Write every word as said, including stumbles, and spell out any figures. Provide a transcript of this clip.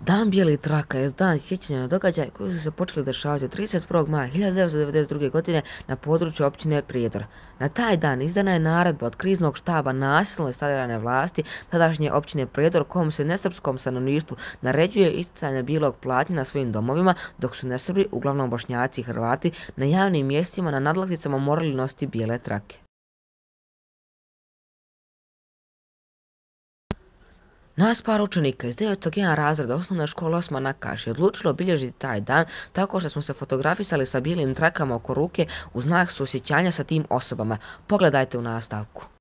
Dan bijelih traka je dan sjećanja na događaje koji su se počeli dešavati od trideset prvog maja hiljadu devetsto devedeset druge. godine na području općine Prijedor. Na taj dan izdana je naredba od kriznog štaba nasilno instalirane vlasti tadašnje općine Prijedor kojom se nesrpskom stanovništvu naređuje isticanje bijelog platnja na svojim domovima, dok su nesrbi, uglavnom Bošnjaci i Hrvati, na javnim mjestima na nadlakticama morali nositi bijele trake. Nas par učenika iz devetog jedan razreda osnovne škole Osman Nakaš je odlučilo obilježiti taj dan tako što smo se fotografisali sa bijelim trakama oko ruke u znak suosjećanja sa tim osobama. Pogledajte u nastavku.